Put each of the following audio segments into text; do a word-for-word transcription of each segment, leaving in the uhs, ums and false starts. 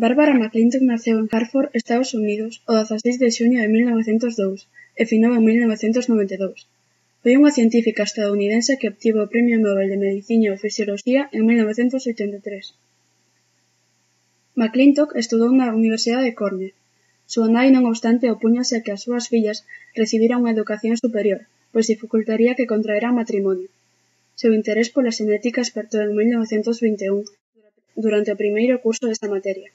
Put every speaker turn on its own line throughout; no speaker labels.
Barbara McClintock naceu en Hartford, Estados Unidos, o dezaseis de xuño de mil novecentos dous e finou en mil novecentos noventa e dous. Foi unha científica estadounidense que obtivo o Premio Nobel de Medicina ou Fisioloxía en mil novecentos oitenta e tres. McClintock estudou na Universidade de Cornell. Súa nai, non obstante, opúñase a que as súas fillas recibiran unha educación superior, pois dificultaría que contraeran matrimonio. Seu interés pola xenética espertou en mil novecentos vinte e un, durante o primeiro curso desta materia.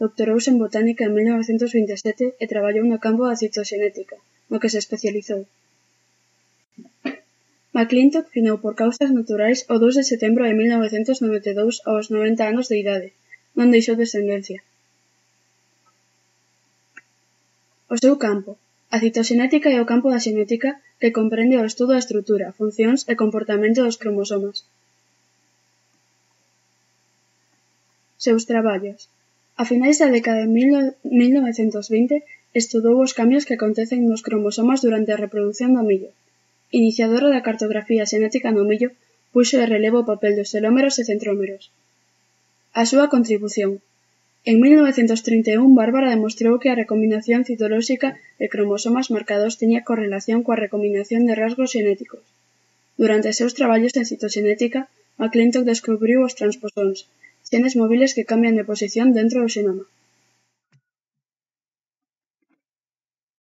Doctorouse en botánica en mil novecentos vinte e sete e traballou no campo da citoxenética, no que se especializou. McClintock finou por causas naturais o dous de setembro de mil novecentos noventa e dous aos noventa anos de idade. Non deixou descendencia. O seu campo. A citoxenética é o campo da xenética que comprende o estudo da estrutura, funcións e comportamento dos cromosomas. Seus traballos. A finais da década de mil novecentos vinte estudou os cambios que acontecen nos cromosomas durante a reprodución do millo. Iniciadora da cartografía xenética no millo, puxo de relevo o papel dos telómeros e centrómeros. A súa contribución. En mil novecentos trinta e un, Bárbara demostrou que a recombinación citolóxica de cromosomas marcados tiña correlación coa recombinación de rasgos xenéticos. Durante os seus traballos en citoxenética, McClintock descubriu os transposóns, xenes móbiles que cambian de posición dentro do xenoma.